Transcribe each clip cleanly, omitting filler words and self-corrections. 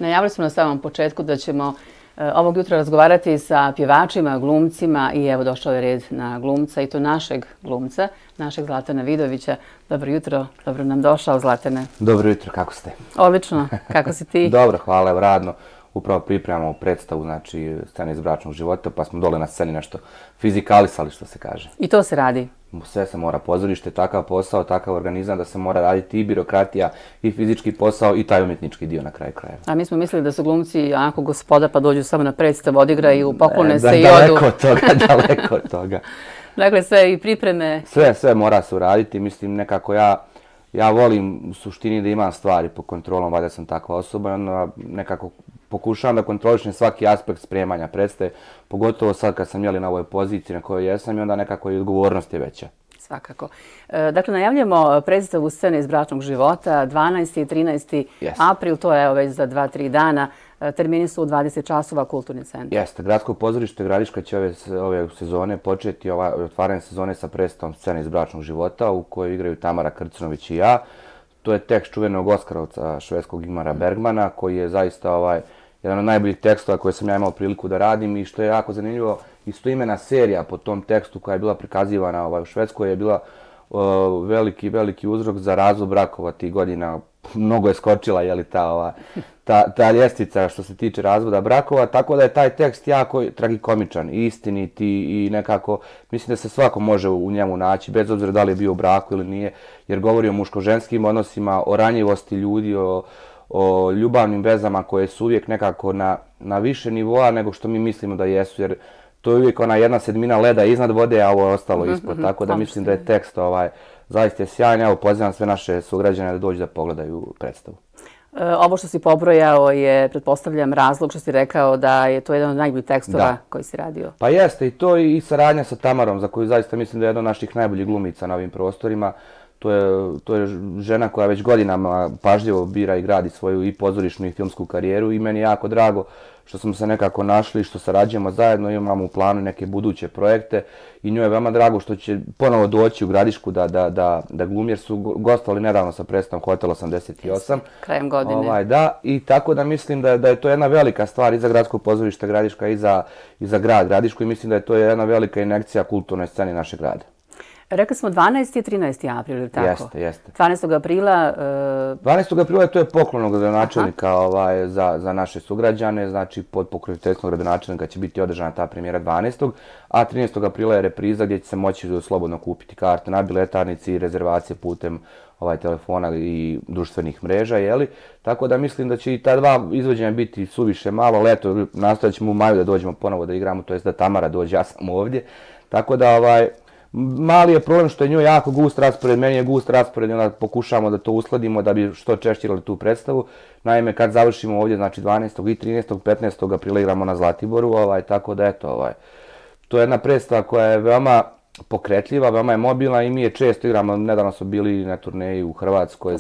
Najavili smo na samom početku da ćemo ovog jutra razgovarati sa pjevačima, glumcima i evo došao je red na glumca i to našeg glumca, našeg Zlatana Vidovića. Dobro jutro, dobro nam došao Zlatane. Dobro jutro, kako ste? Odlično, kako si ti? Dobro, hvala, evo radno. Upravo pripremamo predstavu, znači scene iz bračnog života, pa smo dole na sceni nešto fizikalisali, što se kaže. I to se radi? Sve se mora, pozorište, takav posao, takav organizam da se mora raditi i birokratija, i fizički posao, i taj umjetnički dio na kraju krajeva. A mi smo mislili da su glumci onako gospoda pa dođu samo na predstavu, odigraju, poklone se i odu. Daleko od toga, daleko od toga. Dakle, sve i pripreme. Sve mora se uraditi, mislim nekako ja volim u suštini da imam stvari pod kontrolom, valjda sam takva osoba i onda nekako pokušavam da kontrolišem svaki aspekt spremanja predstave, pogotovo sad kad sam na ovoj poziciji na kojoj jesam i onda nekako i odgovornost je veća. Svakako. Dakle, najavljamo predstavu scene iz bračnog života, 12. i 13. april, to je već za 2-3 dana. Termini su u 20 časova Kulturni centar. Jeste, Gradsko pozorište Gradiška će ove sezone početi, otvaranje sezone sa predstavom scene iz bračnog života u kojoj igraju Tamara Krcnović i ja. To je tekst čuvenog Oskarovca švedskog Ingmara Bergmana koji je zaista jedan od najboljih tekstova koje sam ja imao priliku da radim i što je jako zanimljivo, istoimena serija po tom tekstu koja je bila prikazivana u Švedskoj je bila veliki uzrok za razvod brakova tih godina. Mnogo je skočila ta ljestvica što se tiče razvoda brakova, tako da je taj tekst jako tragikomičan, istinit i nekako mislim da se svako može u njemu naći, bez obzira da li je bio u braku ili nije, jer govori o muško-ženskim odnosima, o ranjivosti ljudi, o ljubavnim vezama koje su uvijek nekako na više nivoa nego što mi mislimo da jesu, jer to je uvijek ona jedna sedmina leda iznad vode, a ovo je ostalo ispod, tako da mislim da je tekst zaista sjajan. Evo, pozivam sve naše sugrađane da dođu da pogledaju predstavu. Ovo što si pobrojao je, pretpostavljam, razlog što si rekao da je to jedan od najboljih tekstova koji si radio. Pa jeste, i to i saradnja sa Tamarom, za koju zaista mislim da je jedna od naših najboljih glumica na ovim prostorima. To je žena koja već godinama pažljivo bira i gradi svoju i pozorišnu i filmsku karijeru i meni je jako drago što smo se nekako našli, što sarađujemo zajedno, imamo u planu neke buduće projekte i njoj je veoma drago što će ponovo doći u Gradišku da glumi, jer su gostovali nedavno sa predstavom Hotel 88. Krajem godine. Da, i tako da mislim da je to jedna velika stvar i za Gradsko pozorište Gradiška i za grad Gradišku i mislim da je to jedna velika injekcija kulturnoj sceni našeg grada. Rekli smo 12. i 13. april, ili tako? Jeste. 12. aprila... 12. aprila to je poklon gradonačelnika za naše sugrađane, znači pod pokroviteljstvom gradonačelnika će biti održana ta premijera 12. A 13. aprila je repriza gdje će se moći slobodno kupiti karte na biletarnici i rezervacije putem telefona i društvenih mreža, Tako da mislim da će i ta dva izvođenja biti suviše malo. Leto nastojat ćemo u maju da dođemo ponovo da igramo, to jest da Tamara dođe, ja sam ovdje. Tako da mali je problem što je njoj jako gust raspored, meni je gust raspored i onda pokušamo da to uskladimo da bi što češće igrali tu predstavu. Naime, kad završimo ovdje, znači 12. i 13. 15. aprila igramo na Zlatiboru, tako da to je jedna predstava koja je veoma pokretljiva, veoma je mobilna i mi je često igramo, nedavno smo bili na turneji u Hrvatskoj,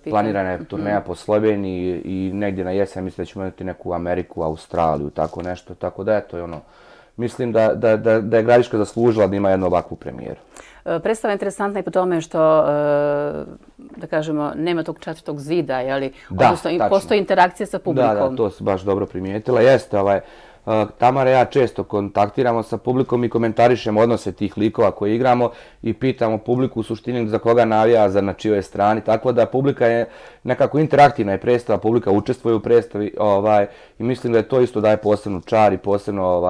planirana je turneja po Sloveniji i negdje na jesen mislim da ćemo imati neku Ameriku, Australiju, tako nešto, tako da mislim da je Gradiška zaslužila da ima jednu ovakvu premijeru. Predstava je interesantna i po tome što, da kažemo, nema tog četvrtog zida, odnosno postoji interakcija sa publikom. Da, to si baš dobro primijetila. Jeste, Tamara i ja često kontaktiramo sa publikom i komentarišemo odnose tih likova koje igramo i pitamo publiku u suštini za koga navija, na čijoj strani, tako da publika je nekako interaktivna je predstava, publika učestvuje u predstavi i mislim da je to isto daje posebnu čar i posebno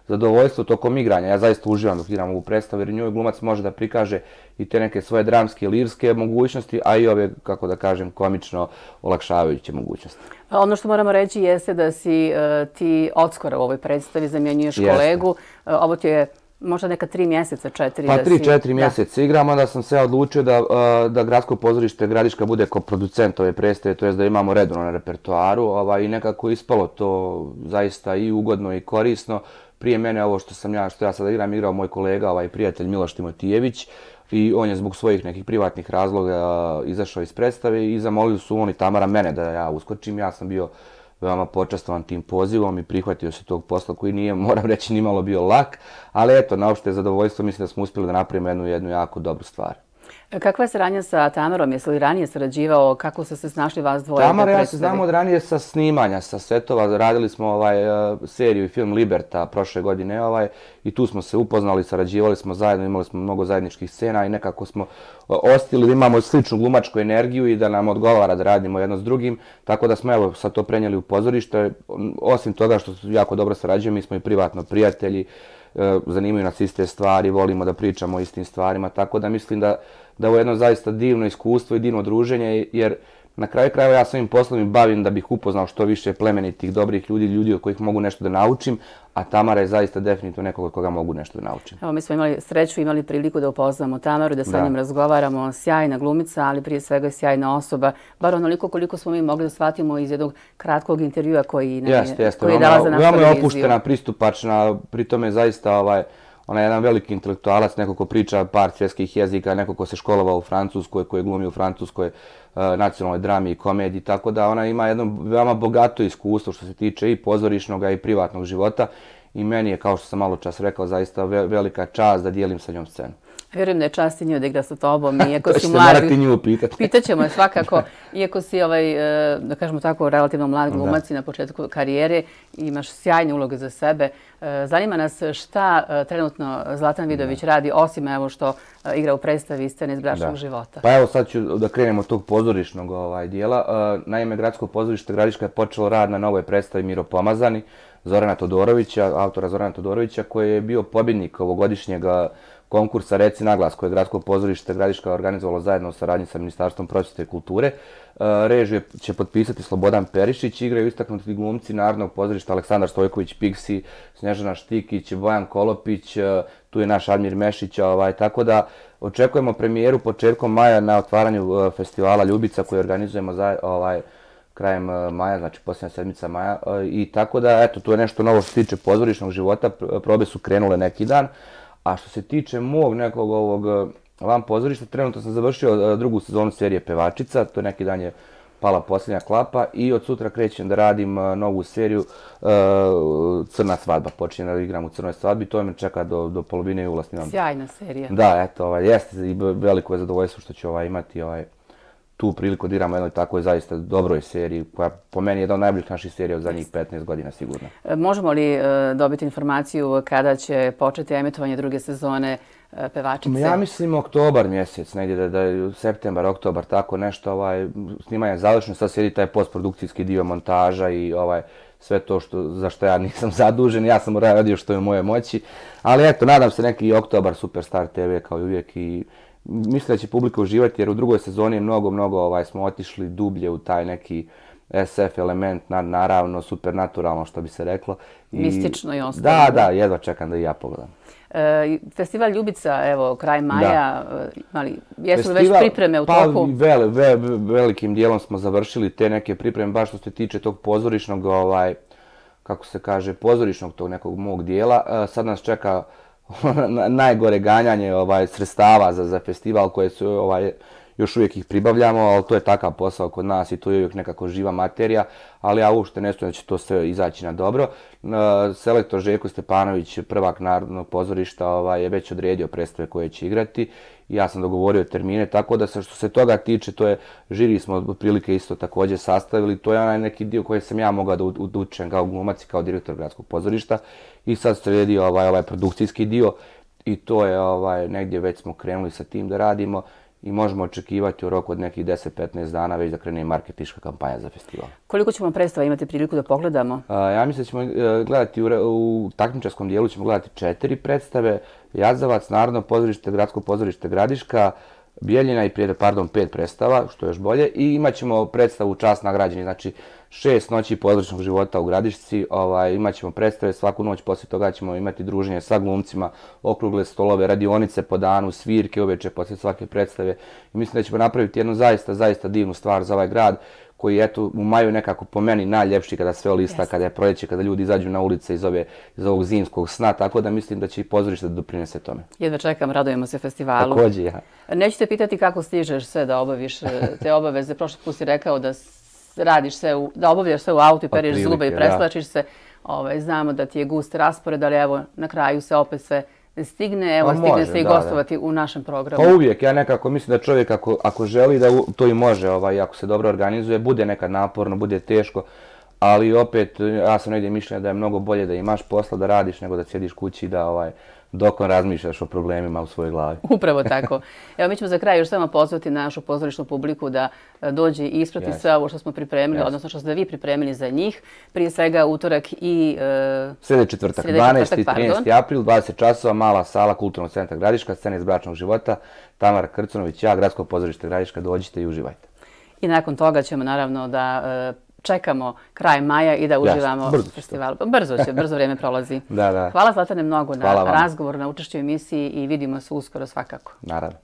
zadovoljstvo tokom igranja. Ja zaista uživam dok igram ovu predstavu jer njoj glumac može da prikaže i te neke svoje dramske, lirske mogućnosti, a i ove, kako da kažem, komično olakšavajuće mogućnosti. Ono što moramo reći jeste da si ti odskora u ovoj predstavi, zamjenjuješ kolegu. Ovo ti je možda neka 3 mjeseca, 4. Pa 3-4 mjeseca igram, onda sam se odlučio da Gradsko pozorište Gradiška bude koproducent ove predstave, to jest da imamo redovno na repertoaru i nekako ispalo to zaista i ugodno i korisno. Prije mene ovo što ja sada igrao moj kolega, prijatelj Miloš Timotijević i on je zbog svojih nekih privatnih razloga izašao iz predstave i zamolili su on i Tamara mene da ja uskočim. Ja sam bio veoma počastovan tim pozivom i prihvatio se tog posla koji nije, moram reći, nimalo bio lak, ali eto, na opšte zadovoljstvo mislim da smo uspjeli da napravimo jednu jako dobru stvar. Kakva je saradnja sa Tamarom? Jesi li ranije sarađivao? Kako ste se snašli vas dvoje? Tamara, ja se znam od ranije sa snimanja, sa setova. Radili smo seriju i film Liberta prošle godine i tu smo se upoznali, sarađivali smo zajedno, imali smo mnogo zajedničkih scena i nekako smo ostili da imamo sličnu glumačku energiju i da nam odgovara da radimo jedno s drugim. Tako da smo sad to prenijeli u pozorište. Osim toga što jako dobro sarađujemo, mi smo i privatno prijatelji, zanimaju nas iste stvari, volimo da pričamo o istim stvarima, tako da mislim da je ovo jedno zaista divno iskustvo i divno druženje, jer na kraju krajeva ja svojim poslom i bavim da bih upoznao što više plemenitih, dobrih ljudi od kojih mogu nešto da naučim, a Tamara je zaista definitivno nekog od koga mogu nešto da naučim. Evo, mi smo imali sreću, imali priliku da upoznamo Tamaru, da sa njom razgovaramo, sjajna glumica, ali prije svega sjajna osoba, bar onoliko koliko smo mi mogli da shvatimo iz jednog kratkog intervjua koji je dala za našu televiziju. Veoma je opuštena, pristupačna, pritom je zaista ona je jedan veliki intelektualac, neko ko priča par svjetskih jezika, neko ko se školovao u Francuskoj, koji glumi u francuskoj nacionalnoj drami i komediji, tako da ona ima jedno veoma bogato iskustvo što se tiče i pozorišnog i privatnog života i meni je, kao što sam malo čas rekao, zaista velika čast da dijelim sa njom scenu. Vjerujem da je čast i nju da igra sa tobom, iako si mlad. To ćete morati nju pitati. Pitaćemo je svakako, iako si, da kažemo tako, relativno mlad glumac i na početku karijere, imaš sjajne uloge za sebe. Zanima nas šta trenutno Zlatan Vidović radi, osim evo što igra u predstavi Scene iz bračnog života. Pa evo sad ću da krenemo od tog pozorišnog dijela. Naime, Gradsko pozorište Gradiška je počelo rad na novoj predstavi Miro Pomazani, Zorana Todorovića, autora Zorana Todorovića, koji je bio pobjednik ovogodišnjeg konkursa Reci naglas koje je Gradsko pozorište Gradiška organizovalo zajedno u saradnji sa Ministarstvom prosvjete i kulture. Režiju će potpisati Slobodan Perišić, igraju istaknuti glumci Narodnog pozorišta Aleksandar Stojković Piksi, Snježana Štikić, Bojan Kolopić, tu je naš Admir Mešić, tako da očekujemo premijeru početkom maja na otvaranju festivala Ljubica koji organizujemo krajem maja, znači posljednja sedmica maja, i tako da, eto, tu je nešto novo što se tiče pozorišnog života, probe su krenule neki dan. A što se tiče mog nekog van pozorišta, trenutno sam završio drugu sezonu serije Pevačica, to neki dan je pala posljednja klapa i od sutra krećem da radim novu seriju Crna svadba. Počinjem da igram u Crnoj svadbi, to me čeka do polovine jula snimam. Sjajna serija. Da, eto, jeste i veliko je zadovoljstvo što ću imati tu priliku da igram u jednoj takvoj zaista dobroj seriji, koja po meni je jedna od najboljih naših serija od zadnjih 15 godina sigurno. Možemo li dobiti informaciju kada će početi emitovanje druge sezone Pevačice? Ja mislim oktobar mjesec, negdje da je septembar, oktobar, tako nešto. Snimanje je završeno, sad sjedi taj postprodukcijski dio montaža i sve to za što ja nisam zadužen, ja sam radio što je u moje moći. Ali eto, nadam se neki oktobar Superstar TV kao i uvijek i mislim da će publika uživati jer u drugoj sezoni mnogo smo otišli dublje u taj neki SF element, naravno supernaturalno što bi se reklo. Mistično i ostalo. Da, jedva čekam da i ja pogledam. Festival Ljubica, evo, kraj maja, jesu li već pripreme u toku? Velikim dijelom smo završili te neke pripreme, baš što se tiče tog pozorišnog, kako se kaže, pozorišnog tog nekog mog dijela. Sad nas čeka najgore ganjanje sredstava za festival koje su još uvijek ih pribavljamo, ali to je takav posao kod nas i to je uvijek nekako živa materija, ali ja uopšte ne stojim da će to sve izaći na dobro. Selektor Željko Stepanović, prvak Narodnog pozorišta, je već odredio predstave koje će igrati i ja sam dogovorio termine, tako da što se toga tiče, to je, žiri smo otprilike isto također sastavili, to je onaj neki dio koji sam ja mogao da učem kao glumac i kao direktor Gradskog pozorišta i sad sredi ovaj produkcijski dio i to je negdje već smo krenuli sa tim da radimo i možemo očekivati u roku od nekih 10-15 dana već da krene i marketinška kampanja za festival. Koliko ćemo predstava imati priliku da pogledamo? Ja mislim da ćemo gledati u takmičarskom dijelu ćemo gledati 4 predstave. Jazavac, Narodno pozorište, Gradsko pozorište Gradiška, Bijeljina i 5 predstava, što je još bolje. I imat ćemo predstavu Čast nagrađeni, znači 6 noći pozorišnog života u Gradišci. Imat ćemo predstave, svaku noć poslije toga ćemo imati druženje sa glumcima, okrugle stolove, radionice po danu, svirke uveče poslije svake predstave. I mislim da ćemo napraviti jednu zaista divnu stvar za ovaj grad koji je u maju nekako po meni najljepši kada sve olista, kada je proljeće, kada ljudi izađu na ulice iz ovog zimskog sna, tako da mislim da će i pozorište da doprinese tome. Jedva čekam, radujemo se festivalu. Također, ja. Neću te pitati kako stižeš sve da obaviš te obaveze. Prošli put si rekao da radiš sve, da obavljaš sve u autu i periš zube i preslačiš se. Znamo da ti je gust raspored, ali evo na kraju se opet sve stigne, evo, Pa stigne može, se i da, gostovati u našem programu. Pa uvijek, ja nekako mislim da čovjek ako želi da to i može, ako se dobro organizuje, bude nekad naporno, bude teško, ali opet ja sam negdje mišljenja da je mnogo bolje da imaš posla, da radiš, nego da sjediš kući i da dok razmišljaš o problemima u svojoj glavi. Upravo tako. Evo, mi ćemo za kraj još samo pozvati našu pozorišnu publiku da dođe i isprati sve ovo što smo pripremili, odnosno što ste vi pripremili za njih. Prije svega utorak i... Sljedeći četvrtak, 12. i 13. april, 20 časova, mala sala Kulturnog centra Gradiška, scena iz bračnog života, Tamara Krcunović, ja, Gradsko pozorište Gradiška, dođite i uživajte. I nakon toga ćemo naravno da čekamo kraj maja i da uživamo u festivalu. Brzo će, brzo vrijeme prolazi. Da. Hvala Zlatane mnogo na razgovor, na učešću u emisiji i vidimo se uskoro svakako. Naravno.